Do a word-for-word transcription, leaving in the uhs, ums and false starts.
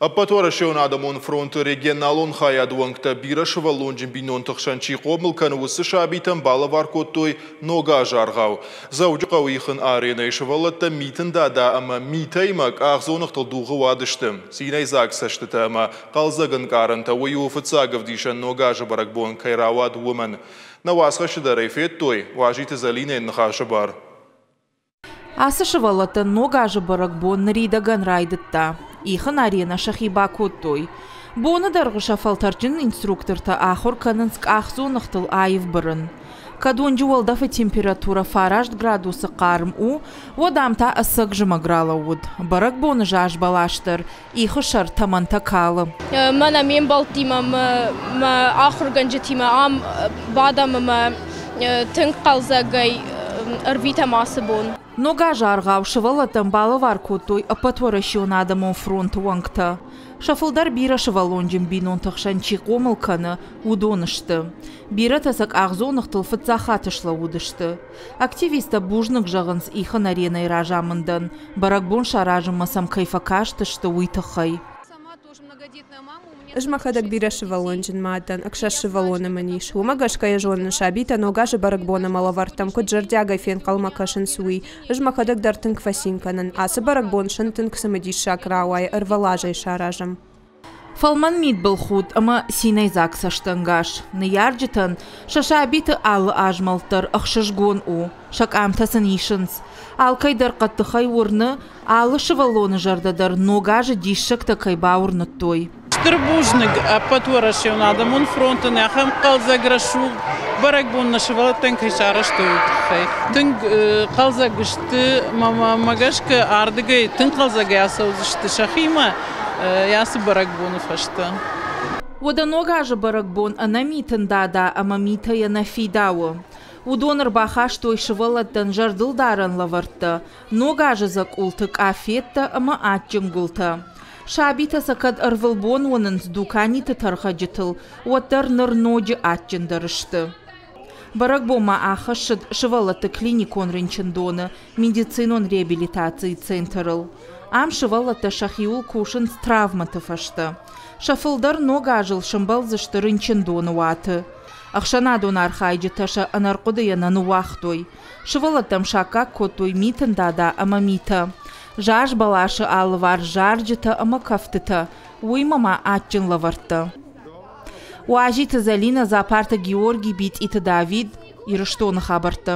Ӕппӕтуӕрӕсеон адӕмон фронты регионалон хайады уӕнгтӕ бирӕ сывӕллонджын бинонты хсӕн чи хъомыл кӕны, уыцы сабитӕн балӕвар кодтой Ног азы аргъау. Дзӕуджыхъӕуы ихын аренӕйы сывӕллӕттӕ Митын Дада ӕмӕ Митӕимӕ къахдзоныгътыл дугъы уадысты. Цинӕйдзаг цӕстытӕ ӕмӕ хъӕлдзӕг ӕнкъарӕнтӕ, уый у фыццаг ӕвдисӕн Ног азы бӕрӕгбон кӕй рауад, уымӕн. Нӕ уацхӕсджытӕ дӕр ӕй федтой. Уазиты Зӕлинӕйӕн ныхасы бар. Ацы сывӕллӕттӕн Ног азы бӕрӕгбон ныридӕгӕн райдыдта. Ихын аренӕ сӕхи бакодтой. Боны дӕргъы сӕ фӕлтӕрджын инструктортӕ ахуыр кӕнынц къахдзоныгътыл аив бырын. Кӕд уынджы уӕлдӕфы температурӕ фараст градусы хъарм у, уӕд ам та ӕцӕг зымӕг ралӕууыд. Бӕрӕгбоны заз бӕлас дӕр ихы сӕр тӕмӕнтӕ калы. Мӕнӕ ме мбӕлттимӕ, мӕ ахуыргӕнджытимӕ ам бадӕм ӕмӕ тынг хъӕлдзӕгӕй ӕрвитӕм ацы бон. Ног азы аргъау сывӕллӕттӕн балӕвар кодтой Ӕппӕтуӕрӕсеон адӕмон фронты уӕнгтӕ. Сӕ фылдӕр бирӕ сывӕллонджын бинонты хсӕн чи хъомыл кӕны, уыдон сты. Бирӕтӕ сӕ къахдзоныгътыл фыццаг хатт слӕууыдысты. Активисттӕ бузныг зӕгъынц ихын аренӕйы разамындӕн, бӕрӕгбон саразынмӕ сӕм кӕй фӕкастысты, уый тыххӕй. Ӕз мӕхӕдӕг бирӕ сывӕллонджын мад дӕн, ӕхсӕз сывӕллоны мын ис. Уымӕ гӕсгӕ йӕ зонын, сабитӕ Ног азы бӕрӕгбон ӕмӕ лӕвӕрттӕм куыд зӕрдиагӕй фенхъӕлмӕ кӕсынц, уый. Ӕз мӕхӕдӕг дӕр тынг фӕцин кӕнын. Ацы бӕрӕгбон сын тынг цымыдиссаг рауайы, ӕрвылазӕй саразӕм. Фӕлмӕн мидбылхудт ӕмӕ цинӕйдзаг цӕстӕнгас. Ныййарджытӕн сӕ сабиты алы азмӕлд дӕр ӕхсызгон у. Сӕ къамтӕ сын исынц. Алкӕй дӕр хъӕддыхӕй уырны, алы сывӕллоны зӕрдӕ дӕр Ног азы диссӕгтӕ кӕй бауырныдтой. Стыр бузныг Ӕппӕтуӕрӕсеон адӕмон фронтӕн ахӕм хъӕлдзӕг рӕсугъд бӕрӕгбон нӕ сывӕллӕттӕн кӕй сарӕзтой, уый тыххӕй. Тынг хъӕлдзӕг сты, мӕ гӕсгӕ ардыгӕй тынг хъӕлдзӕгӕй ацӕудзысты сӕхимӕ ацы бӕрӕгбоны фӕстӕ. Уӕдӕ Ног азы бӕрӕгбон ӕнӕ Митын Дада ӕмӕ Митӕйӕ нӕ фидауы. Уыдон ӕрбахастой сывӕллӕттӕн зӕрдылдарӕн лӕвӕрттӕ, Ног азы дзӕкъулты къафеттӕ ӕмӕ адджын гуылтӕ. Сабитӕ сӕ кӕд ӕрвылбон уынынц дуканиты тӕрхӕджытыл, уӕддӕр ныр ноджы адджындӕр сты. Бӕрӕгбон ма ахӕссыд сывӕллӕтты клиникон рынчындоны медицинон реабилитацийы центрыл. Ам сывӕллӕттӕ сӕхиуыл кусынц травмӕты фӕстӕ. Сӕ фылдӕр Ног азыл сӕмбӕлдзысты рынчындоны уаты. Ӕхсӕнадон архайджытӕ сӕ ӕнӕрхъуыдыйӕ нӕ ныууагътой. Сывӕллӕттӕм саккаг кодтой Митын Дада ӕмӕ Митӕ. Заз бӕласы алыварс зарджытӕ ӕмӕ кӕфтытӕ, уыимӕ ма адджын лӕвӕрттӕ. Уазиты Зӕлинӕ, Дзапарты Георгий, Битъиты Давид, Ирыстоны хабӕрттӕ.